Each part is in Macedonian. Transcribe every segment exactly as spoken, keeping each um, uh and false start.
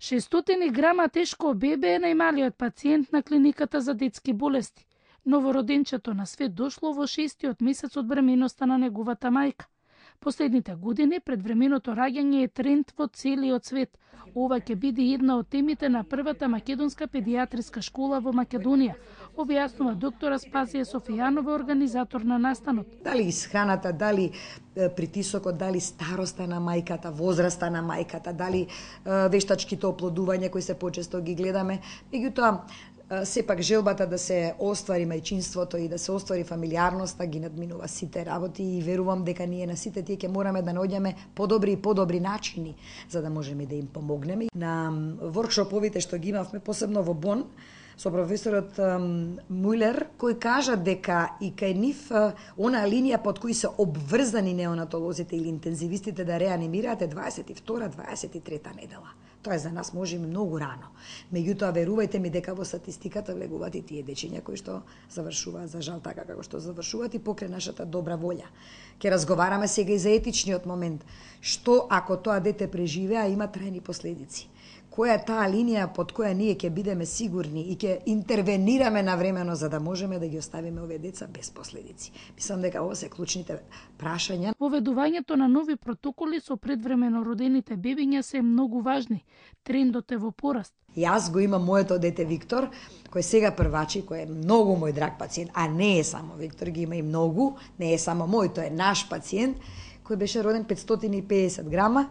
шестстотини грама тешко бебе е најмалиот пациент на клиниката за детски болести. Новороденчето на свет дошло во шестиот месец од бременоста на неговата мајка. Последните години предвременото раѓање е тренд во целиот свет. Ова ќе биде една од темите на првата македонска педијатриска школа во Македонија, објаснува доктор Аспазија Софијанова, организатор на настанот. Дали исхраната, дали притисокот, дали староста на мајката, возраста на мајката, дали вештачките оплодувања кои се почесто ги гледаме, меѓутоа сепак желбата да се оствари мајчинството и да се оствари фамилијарноста ги надминува сите работи и верувам дека ние на сите тие ќе мораме да наоѓаме подобри и подобри начини за да можеме да им помогнеме. На воркшоповите што ги имавме посебно во Бон со професорот Мулер, кој кажа дека и кај нив она линија под кои се обврзани неонатолозите или интензивистите да реанимираат е дваесет и втора дваесет и трета недела. Тоа е за нас може и многу рано. Меѓутоа, верувајте ми дека во статистиката влегуваат и тие дечиња кои што завршуваат за жал така како што завршуваат и покрај нашата добра волја. Ке разговараме сега и за етичниот момент. Што ако тоа дете преживеа има трајни последици? Која е таа линија под која ние ќе бидеме сигурни и ќе интервенираме навремено за да можеме да ги оставиме овие деца без последици. Мислам дека ова се клучните прашања. Воведувањето на нови протоколи со предвремено родените бебиња се многу важни. Трендот е во пораст. Јас го имам моето дете Виктор, кој сега првачи, кој е многу мој драг пациент, а не е само Виктор, ги има и многу, не е само мој, тој е наш пациент, кој беше роден петстотини и педесет грама,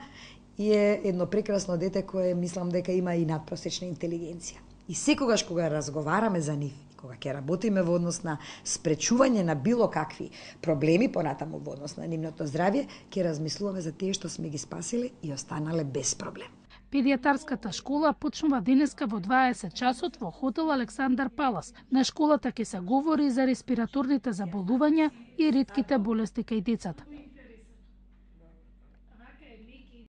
и е едно прекрасно дете кое мислам дека има и надпросечна интелигенција. И секогаш кога разговараме за нив, кога ќе работиме во однос на спречување на било какви проблеми понатаму во однос на нивното здравје, ќе размислуваме за тие што сме ги спасиле и останале без проблем. Педијатарската школа почнува денеска во дваесет часот во хотел Александар Палас. На школата ќе се говори за респираторните заболувања и ретките болести кај децата.